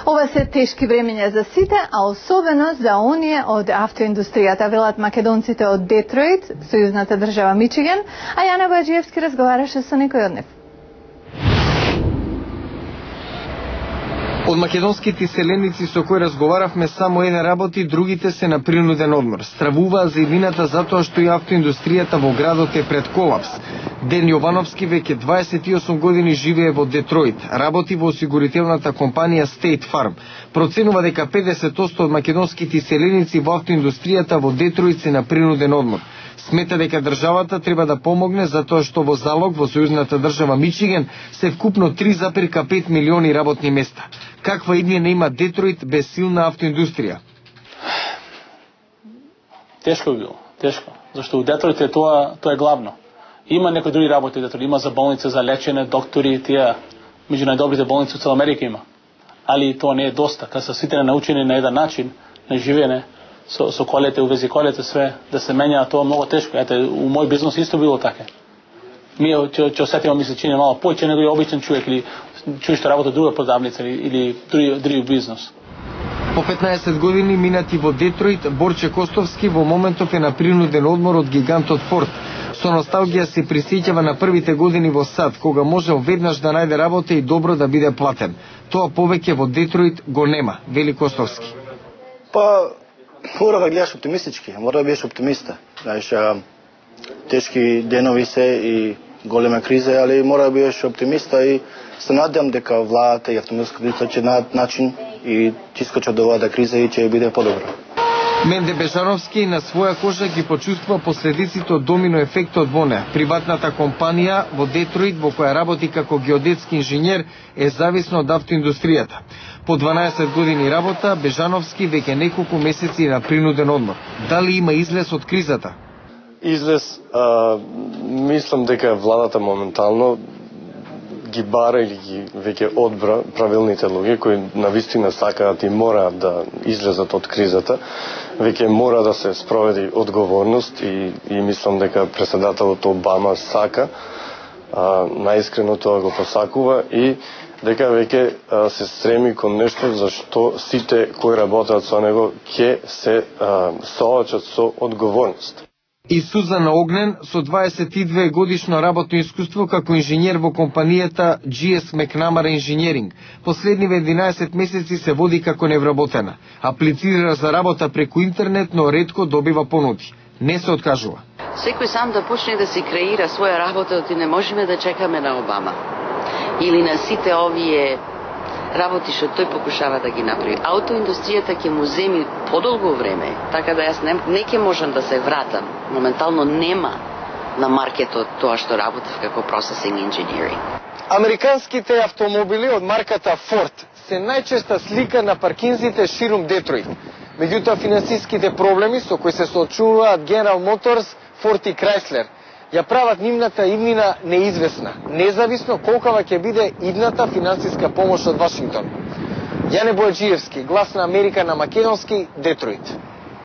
Ова се тешки времења за сите, а особено за оние од автоиндустријата, велат македонците од Детройт, сојузната држава Мичиген, а Јана Бојаджиевски разговараше со некој од нив. Од македонските селеници со кои разговаравме само еден работи, другите се на принуден одмор. Стравуваа за иднината затоа што и автоиндустријата во градот е пред колапс. Ден Јовановски веќе 28 години живее во Детройт, работи во осигурителната компанија State Farm. Проценува дека 50% од македонските селеници во автоиндустријата во Детройт се на принуден одмор. Смета дека државата треба да помогне затоа што во залог во сојузната држава Мичиген се вкупно 3,5 милиони работни места. Каква иднина има Детройт без силна автоиндустрија? Тешко би било, тешко. Зашто у Детройт е тоа е главно. Има некои други работи во Детройт, има за болница, за лечење, доктори, тие меѓу најдобрите болници во цела Америка има. Али тоа не е доста, кога се сите научени на еден начин на живење, со колете, увези колете, све, да се менја, тоа многу тешко. Ете, у мој бизнес исто било така. Ние ќе осетиме, ми се чини мало поќе него и обичен човек или човек што работи друга продавница или други бизнес. По 15 години минати во Детройт, Борче Костовски во моментов е на принуден одмор од гигантот Форд. Со носталгија се присеќава на првите години во САД, кога можел веднаш да најде работа и добро да биде платен. Тоа повеќе во Детройт го нема, вели Костовски. Мора да гледаш оптимистички, мора да бидеш оптимиста. Знаеш, тешки денови се и голема криза, али мора да бидеш оптимиста и се надевам дека владата и автомобилската ќе најдат начин и ќе искочат до оваа криза и ќе биде подобро. Менде Бежановски на своја кожа ги почувствува последиците од домино ефектот во неа. Приватната компанија во Детройт, во која работи како геодетски инженер, е зависна од автоиндустријата. По 12 години работа, Бежановски веќе неколку месеци на принуден одмор. Дали има излез од кризата? Излез, мислам дека владата моментално ги бара или ги веќе одбра правилните луѓе кои навистина сакаат и мораат да излезат од кризата. Веќе мора да се спроведи одговорност и мислам дека претседателот Обама сака, наискрено тоа го посакува и дека веќе се стреми кон нешто за што сите кои работат со него ќе се соочат со одговорност. И Сузана Огнен со 22 годишно работно искуство како инженер во компанијата GS McNamara Engineering. Последниве 11 месеци се води како невработена. Аплицира за работа преку интернет, но ретко добива понуди. Не се откажува. Секој сам да почне да си креира своја работа, и не можеме да чекаме на Обама. Или на сите овие работи што тој покушава да ги направи. Автоиндустријата ќе му земи подолго време, така да јас не ќе можам да се вратам. Моментално нема на маркетот тоа што работев како processing engineering. Американските автомобили од марката Ford се најчеста слика на паркинзите ширум Детройт. Меѓутоа финансиските проблеми со кои се соочуваат General Motors, Ford и Chrysler ја прават нивната иднина неизвестна, независно колкава ќе биде идната финансиска помош од Вашингтон. Јане Бојаджиевски, Глас на Америка на македонски, Детройт.